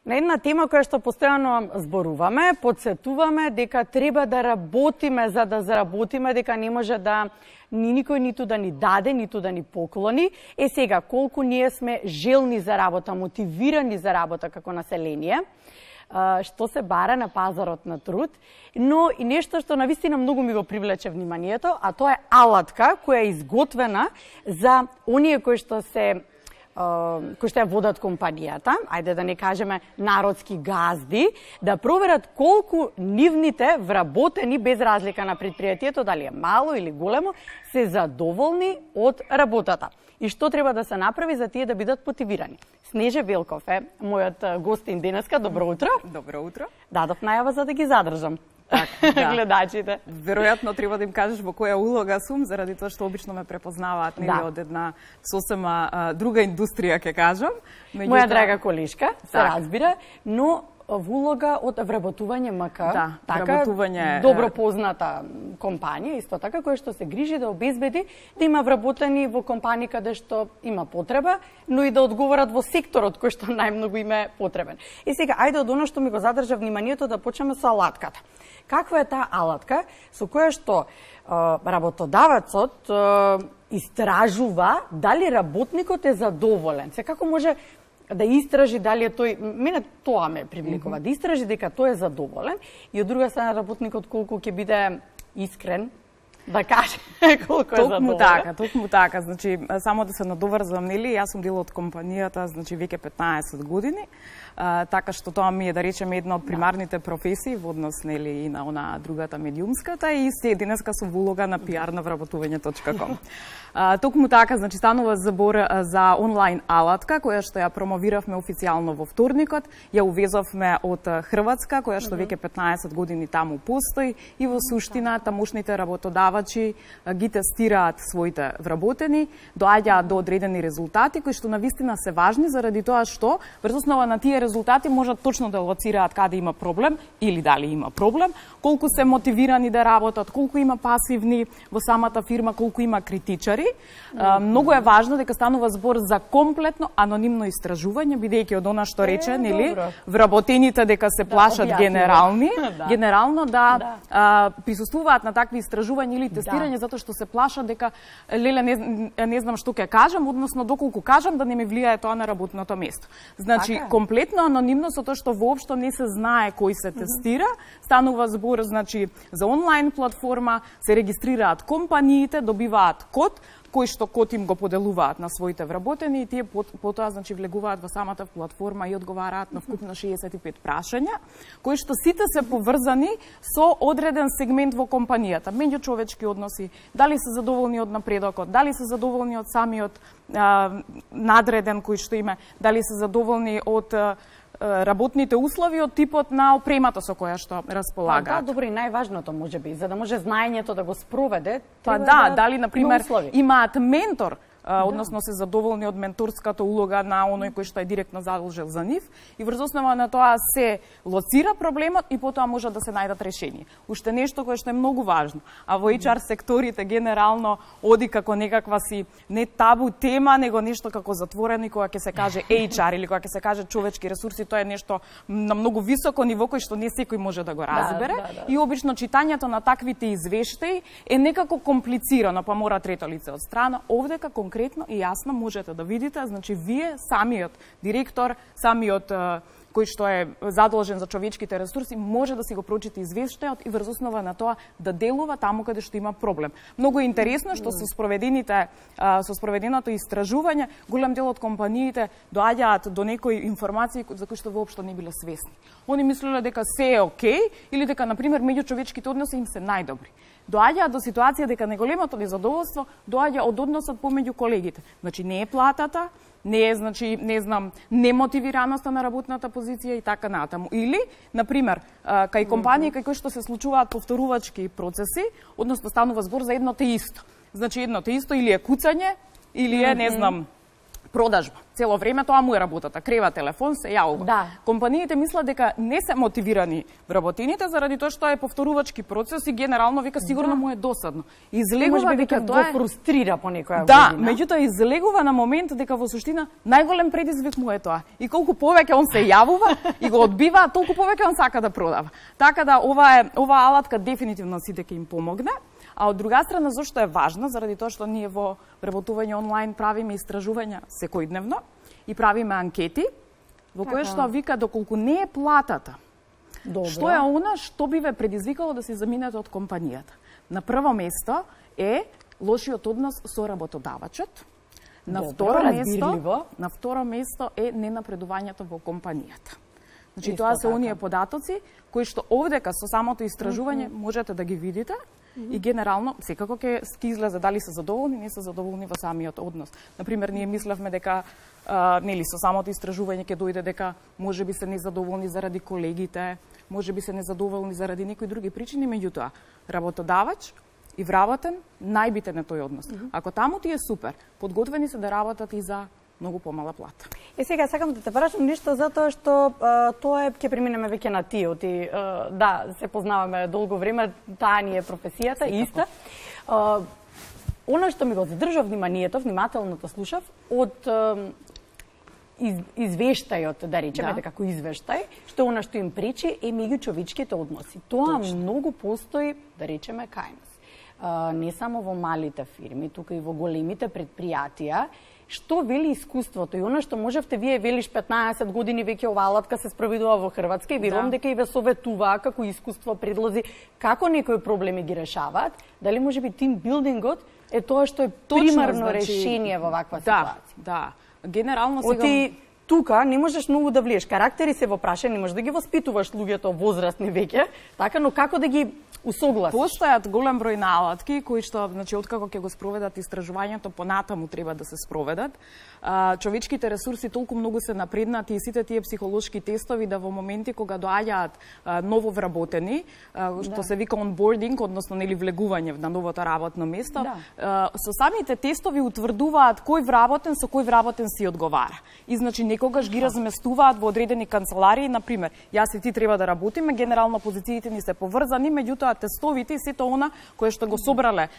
на една тема која што постојано зборуваме, подсетуваме дека треба да работиме за да заработиме, дека не може да ни никој ниту да ни даде, ниту да ни поклони. Сега, колку ние сме желни за работа, мотивирани за работа како население, што се бара на пазарот на труд, но и нешто што навистина многу ми го привлече вниманието, а тоа е алатка која е изготвена за оние кои што ја водат компанијата, ајде да не кажеме народски газди, да проверат колку нивните вработени, без разлика на предпријатието, дали е мало или големо, се задоволни од работата. И што треба да се направи за тие да бидат мотивирани. Снеже Велков е мојот гостин денеска. Добро утро. Добро утро. Дадов најава за да ги задржам. Да. Гледачите. Веројатно треба да им кажеш во која улога сум, заради тоа што обично ме препознаваат нели од една сосема друга индустрија, ќе кажам. Моја драга колешка, се разбира, но во улога од вработување МК, вработување добро позната компанија, исто така, која што се грижи да обезбеди да има вработени во компании каде што има потреба, но и да одговорат во секторот кој што најмногу им е потребен. И сега, ајде од оно што ми го задржа вниманието да почнеме со алатката. Каква е таа алатка со која што работодавецот истражува дали работникот е задоволен? Се како може да истражи дали е тој, мене тоа ме привлекува, да истражи дека тој е задоволен и од друга страна работникот колку ќе биде искрен да каже колку е задоволен. Токму така, значи само да се надоврзам, нели, јас сум дел од компанијата, значи веќе 15 години. Така што тоа ми е, да речеме, една од примарните професии во однос, нели, и на она другата медиумската, и се денеска сум во улога на PR на вработување.com. Токму така, значи станува збор за онлайн алатка која што ја промовиравме официјално во вторникот, ја увезовме од Хрватска, која што веќе 15 години таму постои, и во суштина тамошните работодавачи ги тестираат своите вработени, доаѓаат до одредени резултати кои што навистина се важни заради тоа што врз основа на тие резултати можат точно да лоцираат каде има проблем или дали има проблем, колку се мотивирани да работат, колку има пасивни во самата фирма, колку има критичари. Многу е важно дека станува збор за комплетно анонимно истражување, бидејќи од она што рече, нели, вработените дека се плашат генерално да присуствуваат на такви истражувања или тестирање затоа што се плашат дека леле не знам што ќе кажам, односно доколку кажам да не ми влијае тоа на работното место. Значи комплетно анонимно со тоа што воопшто не се знае кој се тестира, станува збор, значи, за онлайн платформа, се регистрираат компаниите, добиваат код, кој што код им го поделуваат на своите вработени, и тие потоа, значи, влегуваат во самата платформа и одговараат на вкупно 65 прашања, кои што сите се поврзани со одреден сегмент во компанијата, меѓучовечки односи, дали се задоволни од напредокот, дали се задоволни од самиот надреден кој што име, дали се задоволни од работните услови, од типот на опремата со која што располагаат. Да, добро, и најважното можеби, за да може знаењето да го спроведе, дали на пример имаат ментор, односно се задоволни од менторската улога на оној кој што е директно задолжен за нив, и врз основа на тоа се лоцира проблемот и потоа може да се најдат решение. Уште нешто кое што е многу важно, а во HR секторите генерално оди како некаква си не табу тема, него нешто како затворено, и кога ќе се каже HR или кога ќе се каже човечки ресурси, тоа е нешто на многу високо ниво кој што не секој може да го разбере. И обично читањето на таквите извештаи е некако комплицирано, па мора трето лице од страна. Овдека конкретно и јасно можете да видите, значи вие самиот директор, самиот кој што е задолжен за човечките ресурси, може да си го прочита извештајот и врз основа на тоа да делува таму каде што има проблем. Многу е интересно што со спроведеното истражување, голем дел од компаниите доаѓаат до некои информации за кои што воопшто не биле свесни. Они мислеле дека се е окей или дека, например, меѓучовечките односи им се најдобри. Доаѓаат до ситуација дека неголемото незадоволство доаѓа од односот помеѓу колегите. Значи не е платата, не е, значи, не знам, немотивираноста на работната позиција и така натаму. Или, например, кај компании кај кои што се случуваат повторувачки процеси, односно станува збор за едно те исто. Значи едно те исто или е куцање, или е, не знам, продажба. Цело време тоа му е работата. Крева телефон, се јавува. Да. Компаниите мислат дека не се мотивирани вработените заради тоа што е повторувачки процес и генерално вика сигурно му е досадно. Излегува дека тоа го фрустрира по некоја да, година. меѓутоа излегува на момент дека во суштина најголем предизвик му е тоа. И колку повеќе он се јавува и го одбива, толку повеќе он сака да продава. Така да оваа алатка дефинитивно сите ќе им помогне. А од друга страна, зашто е важно? Заради тоа што ние во вработување онлайн правиме истражувања секојдневно и правиме анкети, во кои што вика доколку не е платата. Добро. Што е она што би ве предизвикало да се заминете од компанијата? На прво место е лошиот однос со работодавачот. На второ место е ненапредувањето во компанијата. Значи тоа се оние податоци кои што овдека со самото истражување можете да ги видите и генерално секако ќе излезе дали се задоволни, не се задоволни во самиот однос. Например, ние мислевме дека нели со самото истражување ќе дојде дека можеби се незадоволни заради колегите, можеби се незадоволни заради некои други причини, меѓутоа работодавач и вработен најбитен е тој однос. Ако таму ти е супер, подготвени се да работат и за многу помала плата. Сега сакам да те прашам нешто затоа што тоа ќе преминеме веќе на тие. Да, се познаваме долго време, таа ни е професијата иста. Она што ми го задржа внимателното слушав од извештајот, да речеме како извештај, што она што им пречи е меѓучовечките односи. Тоа многу постои, да речеме, кај нас. Не само во малите фирми, тука и во големите предпријатија. Што вели искуството и она што можевте вие велиш 15 години веќе ова алатка се спроведува во Хрватска и верувам дека и ве советуваа како искуство, предлози како некои проблеми ги решаваат, дали можеби тимбилдингот е тоа што е примарно решение во ваква ситуација. Да. Генерално сега тука не можеш многу да влиеш. Карактери се во прашање, не можеш да ги воспитуваш луѓето возрастни веќе, така, но како да ги усогласиш? Постојат голем број на алатки кои што, значи, откако ќе го спроведат истражувањето, понатаму треба да се спроведат. Човечките ресурси толку многу се напреднати и сите тие психолошки тестови да во моменти кога доаѓаат ново вработени, што се вика онбординг, односно нели влегување на новото работно место, со самите тестови утврдуваат кој вработен со кој вработен си одговара. И значи некогаш ги разместуваат во одредени канцеларии, например, јас и ти треба да работиме, генерално позициите ни се поврзани, меѓутоа тестовите и сето она кое што го собрале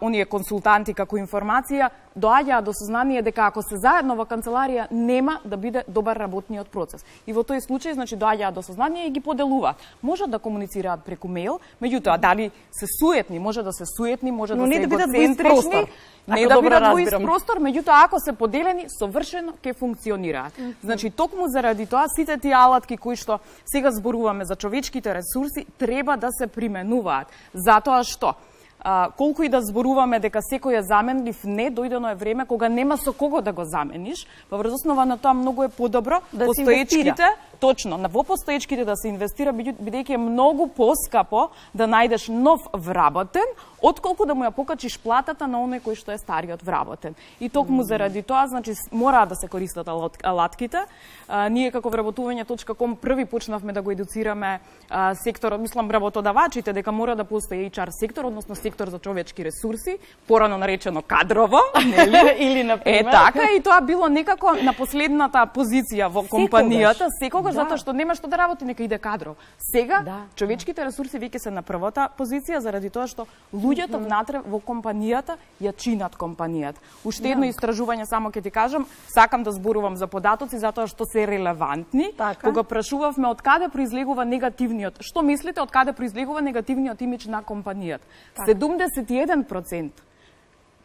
оние консултанти како информација, доаѓаат до сознание дека ако се заедно во канцеларија нема да биде добар работниот процес. И во тој случај, значи, доаѓаат до сознание и ги поделуваат. Можат да комуницираат преку мејл, меѓутоа дали се суетни, може да се суетни, може да се егоцентрични, не да бидат во ист простор, меѓутоа ако се поделени, совршено ќе функционираат. Значи, токму заради тоа сите тие алатки кои што сега зборуваме за човечките ресурси треба да се применуваат. Затоа што колку и да зборуваме дека секој е заменлив, не, дојдено е време кога нема со кого да го замениш, па врз основа на тоа многу е подобро да постоечките, точно, во постоечките да се инвестира, бидејќи е многу поскапо да најдеш нов вработен, отколку да му ја покачиш платата на оној кој што е стариот вработен. И токму заради тоа, значи, мора да се користат алатките. Ние како вработување.com први почнавме да го едуцираме секторот, мислам, работодавачите, дека мора да постои HR сектор, односно сектор за човечки ресурси, порано наречено кадрово, нели? Или например. Така, и тоа било некако на последната позиција во компанијата, секогаш затоа што нема што да работи, нека иде кадров. Сега човечките ресурси веќе се на првата позиција заради тоа што луѓето внатре во компанијата ја чинат компанијата. Уште едно истражување само ќе ти кажам, сакам да зборувам за податоци затоа што се релевантни. Кога прашувавме од каде произлегува негативниот, што мислите од каде произлегува негативниот имидж на компанијата? 71%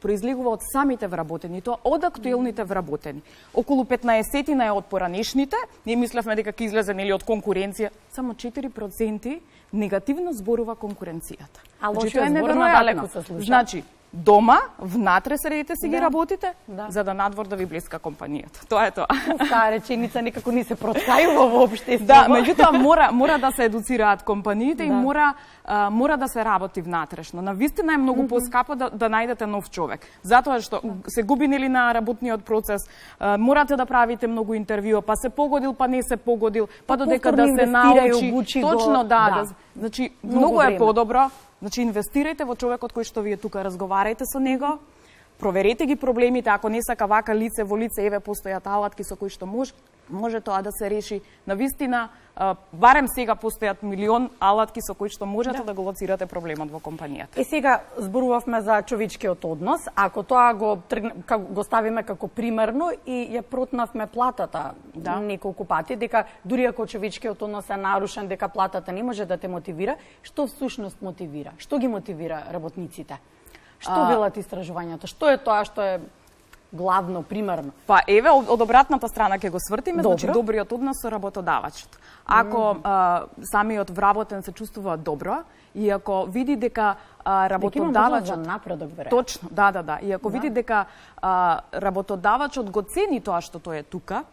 произлегува од самите вработени, тоа од актуелните вработени. Околу 15% е од поранешните, ние мислевме дека ќе излезе нели од конкуренција, само 4% негативно зборува конкуренцијата. А лошиот збор надалеку се слуша. Значи, дома, внатре средите си ги работите, за да надвор да ви блеска компанијата. Тоа е тоа. Таа реченица некако не се проткајува воопште. Да, меѓутоа мора да се едуцираат компаниите и мора да се работи внатрешно. Навистина е многу поскапо да најдете нов човек. Затоа што се губи нели на работниот процес, морате да правите многу интервјуа, па се погодил, па не се погодил, па додека да се научи. Точно, значи многу е подобро. Значи, инвестирајте во човекот кој што вие тука разговарајте со него, проверете ги проблемите, ако не сака вака лице во лице, еве постојат алатки со кои што може тоа да се реши. Навистина, барем сега постојат милион алатки со кои што можете да го лоцирате проблемот во компанијата. И сега зборувавме за човечкиот однос, ако тоа го ставиме како примерно и ја протнавме платата неколку пати, дека дури ако човечкиот однос е нарушен, дека платата не може да те мотивира, што всушност мотивира? Што ги мотивира работниците? Што велат истражувањата? Што е тоа што е главно, примерно? Па еве, од обратната страна ќе го свртиме, значи добриот однос со работодавачот. Ако самиот вработен се чувствува добро и ако види дека работодавачот за напредок, веројатно. Точно, да. И ако види дека работодавачот го цени тоа што тој е тука,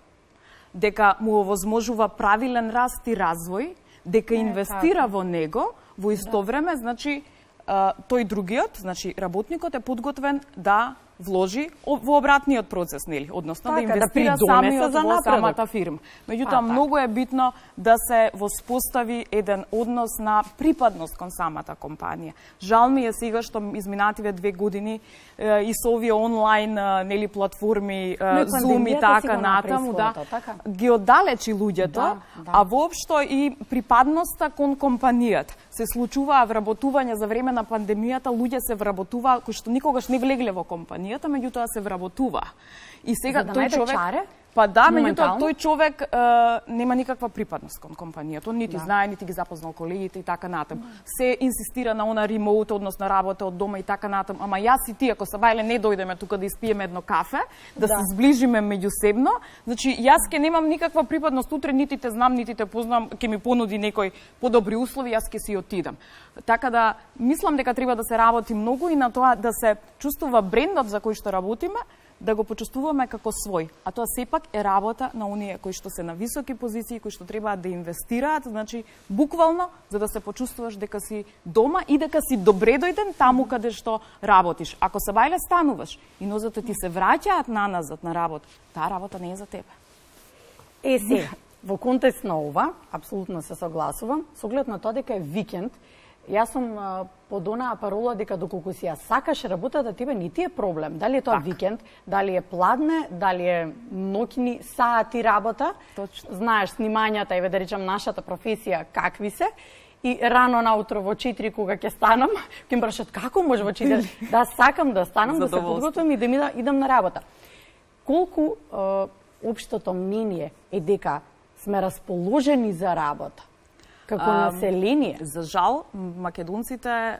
дека му овозможува правилен раст и развој, дека инвестира во него, во исто време, значи тој другиот, значи работникот е подготвен да вложи во обратниот процес, нели, односно да инвестира самиот во самата фирма. Меѓутоа, многу е битно да се воспостави еден однос на припадност кон самата компанија. Жал ми е сега што изминативе 2 години и со овие онлайн нели платформи, Zoom и така натаму, ги оддалечи луѓето, а воопшто и припадноста кон компанијата. Се случуваа вработување за време на пандемијата, луѓе се вработуваа кои што никогаш не влегле во компанијата, меѓутоа се вработува. И сега тој човек чаре? Па да, меѓутоа тој човек нема никаква припадност кон компанијата. Он нити знае, нити ги запознал колегите и така натаму. Се инсистира на она ремоут, односно работа од дома и така натаму. Ама јас и ти, ако Сабајле не дојдеме тука да испиеме едно кафе, да се зближиме меѓусебно, значи јас ќе немам никаква припадност утре, нити те знам, нити те познам, ќе ми понуди некој подобри услови, јас ќе си отидам. Така да мислам дека треба да се работи многу и на тоа да се чувствува брендот за кој што работиме, да го почувствуваме како свој, а тоа сепак е работа на оние кои што се на високи позиции, кои што треба да инвестираат, значи буквално за да се почувствуваш дека си дома и дека си добредојден таму каде што работиш. Ако Сабајле стануваш и нозете ти се враќаат наназад на работа, таа работа не е за тебе. Сега, во контекст на ова, апсолутно се согласувам, со оглед на тоа дека е викенд, јас сум под онаа парола дека доколку си ја сакаш работата, тебе не ти е проблем. Дали е тоа викенд, дали е пладне, дали е ноќни сати работа. Точно. Знаеш снимањата, еве да речам нашата професија какви се. И рано наутро во 4 кога ќе станам, ќе ме прашат како може во 4? Да, сакам да станам, да се подготвам и да идам на работа. Колку општото мнение е дека сме расположени за работа како население? За жал, македонците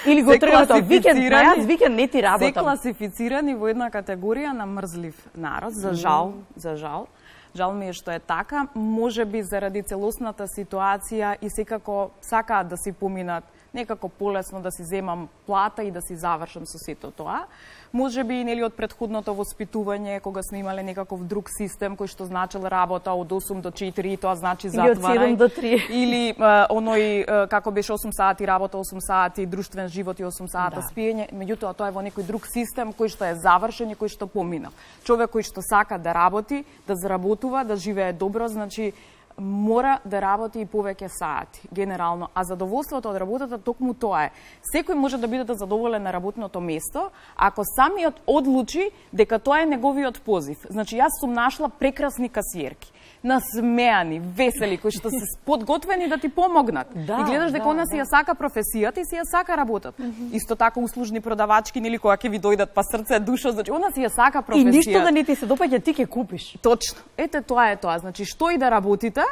или го требате викенд, јас викенд не ти работам. Се класифицирани во една категорија на мрзлив народ, за жал, за жал. Жал ми е што е така, можеби заради целосната ситуација и секако сакаат да си поминат некако полесно да си земам плата и да си завршам со сето тоа. Можеби нели од претходното воспитување кога сме имале некаков друг систем кој што значил работа од 8 до 4 и тоа значи затварај. Или од 7 до 3. Или оној како беше 8 сати работа, 8 сати друштвен живот и 8 сата спиење, меѓутоа тоа е во некој друг систем кој што е завршен и кој што поминал. Човек кој што сака да работи, да заработува, да живее добро, значи мора да работи и повеќе сати, генерално. А задоволството од работата токму тоа е. Секој може да биде задоволен на работното место, ако самиот одлучи дека тоа е неговиот позив. Значи, јас сум нашла прекрасни касиерки, насмеани, весели, кои што се подготвени да ти помогнат. И гледаш дека она си ја сака професијата и си ја сака работата. Исто така услужни продавачки, нели, кога ќе ви дојдат па срце, душа, значи она си ја сака професијата. И ништо да не ти се допаѓа, ти ќе купиш. Точно. Ете, тоа е тоа. Значи, што и да работите,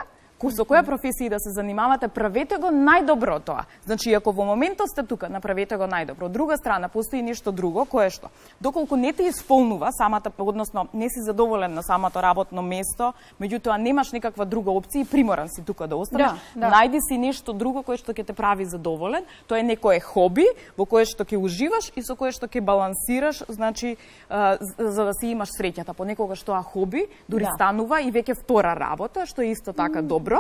со која професија да се занимавате, правете го најдобро тоа. Значи, ако во моментот сте тука, направете го најдобро. Од друга страна, постои нешто друго, кое што, доколку не те исполнува самата, односно, не си задоволен на самото работно место, меѓутоа немаш никаква друга опција и приморан си тука да останеш, најди си нешто друго кое што ќе те прави задоволен. Тоа е некое хоби во кое што ќе уживаш и со кое што ќе балансираш, значи, за да си имаш среќата. Понекогаш тоа хоби дури станува и веќе втора работа, што е исто така добро.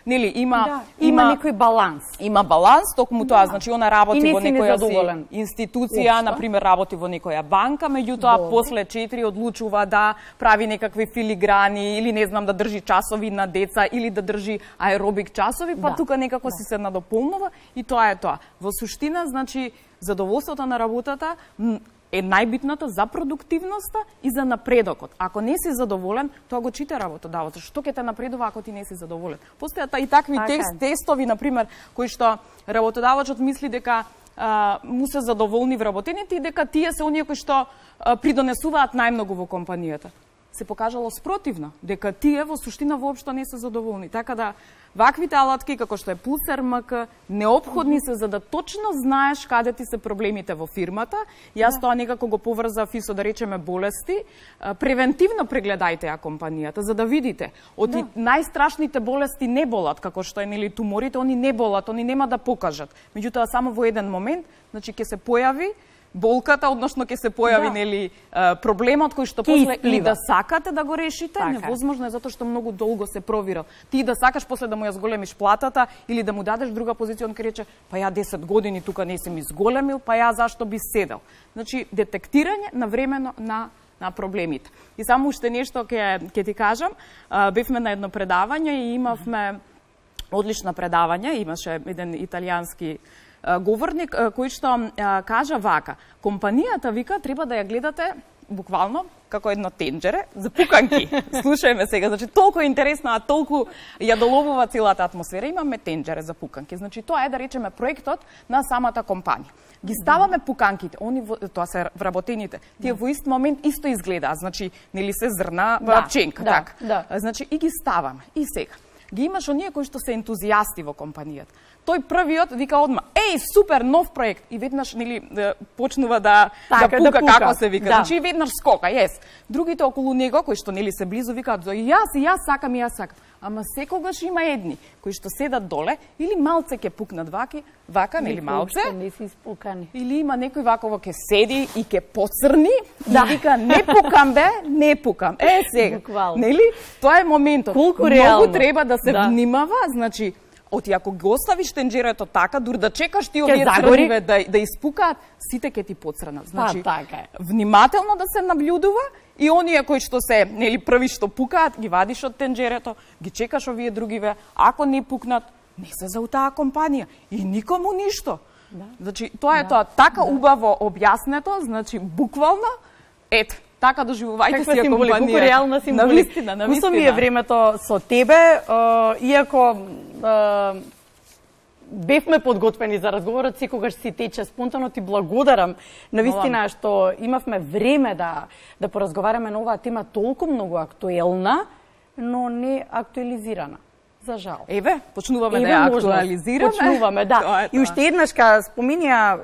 Нели има некој баланс. Има баланс, токму тоа, значи она работи во некоја институција, на пример работи во некоја банка, меѓутоа после 4 одлучува да прави некакви филиграни или не знам да држи часови на деца или да држи аеробик часови, па тука некако си се надополнува и тоа е тоа. Во суштина, значи, задоволството на работата е најбитната за продуктивноста и за напредокот. Ако не си задоволен, тоа го чита работодавецот. Што ќе те напредува ако ти не си задоволен? Постојат и такви тестови, например, кои што работодавецот мисли дека му се задоволни вработените и дека тие се оние кои што придонесуваат најмногу во компанијата. Се покажало спротивно, дека тие во суштина воопшто не се задоволни. Така да, ваквите алатки, како што е Пулсер МК, неопходни се за да точно знаеш каде ти се проблемите во фирмата. Јас тоа некако го поврзав и со, да речеме, болести. Превентивно прегледајте ја компанијата, за да видите. Од најстрашните болести не болат, како што е, нели, туморите, они не болат, они нема да покажат. Меѓутоа, само во еден момент, значи, ќе се појави болката, односно ќе се појави, нели, проблемот кој што после и да сакате да го решите, невозможно е затоа што многу долго се провира. Ти да сакаш после да му ја зголемиш платата или да му дадеш друга позиција, он ќе рече, па ја 10 години тука не сум изголемил, па ја зашто би седел. Значи, детектирање навремено на проблемите. И само уште нешто ќе ти кажам, бевме на едно предавање и имавме одлично предавање, имаше еден италијански говорник кој што кажа вака: компанијата, вика, треба да ја гледате буквално како едно тенџере за пуканки. Слушајме сега, значи толку е интересно, а толку ја доловува целата атмосфера. Имаме тенџере за пуканки. Значи тоа е, да речеме, проектот на самата компанија. Ги ставаме пуканките, они тоа се вработените. Тие во ист момент исто изгледаат, значи нели се зрна пченка, така. Значи и ги ставаме. И сега ги имаш оние кои што се ентузијасти во компанијата. Тој првиот вика одма, еј, супер, нов проект. И веднаш, нели, почнува да пука, како се вика. Значи, веднаш скока, Другите околу него, кои што, нели, се близу, викаат, јас сакам. Ама секогаш има едни, кои што седат доле, или малце ќе пукнат вака, нели, малце. Не си испукани. Или има некој ваково ќе седи и ќе поцрни, и вика, не пукам, бе, не пукам. Сега, нели, тоа е моментот. Многу треба да се внимава, значи, оти ако го оставиш тенџерето така, дур да чекаш ти овие црниве да испукаат, сите ќе ти поцрнат. Значи, внимателно да се наблюдува и оние кои што се, нели, први што пукаат, ги вадиш од тенџерето, ги чекаш овие другиве, ако не пукнат, не се за таа компанија и никому ништо. Значи, тоа е тоа, така убаво објаснето, значи, буквално, ето, така доживувајте си ја компанија. Колку реална символика. Кусо ми е времето со тебе, иако бевме подготвени за разговорот, секогаш си тече спонтано. Ти благодарам навистина што имавме време да поразговараме на оваа тема толку многу актуелна, но не актуализирана. За жал. Еве, почнуваме да ја актуализираме. Почнуваме, да. И уште еднаш споминија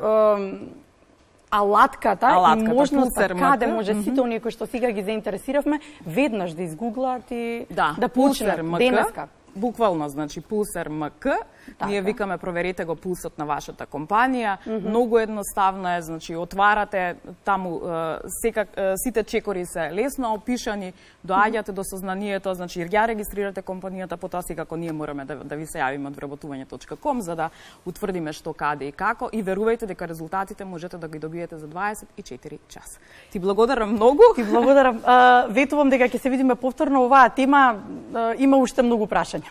алатката и можноста каде може сите оние кои што сега ги заинтересиравме, веднаш да изгуглаат и да почнат денеска. Буквално, значи, Пулсер МК. Ние викаме, проверете го пулсот на вашата компанија. Многу едноставно е, значи, отварате таму, сите чекори се лесно опишани, доаѓате до сознанието, значи, ја регистрирате компанијата, потоа сега како ние мораме да ви се јавиме од вработување.com за да утврдиме што, каде и како, и верувајте дека резултатите можете да ги добиете за 24 часа. Ти благодарам многу. Ти благодарам. Ветувам дека ќе се видиме повторно. Оваа тема има уште многу прашања.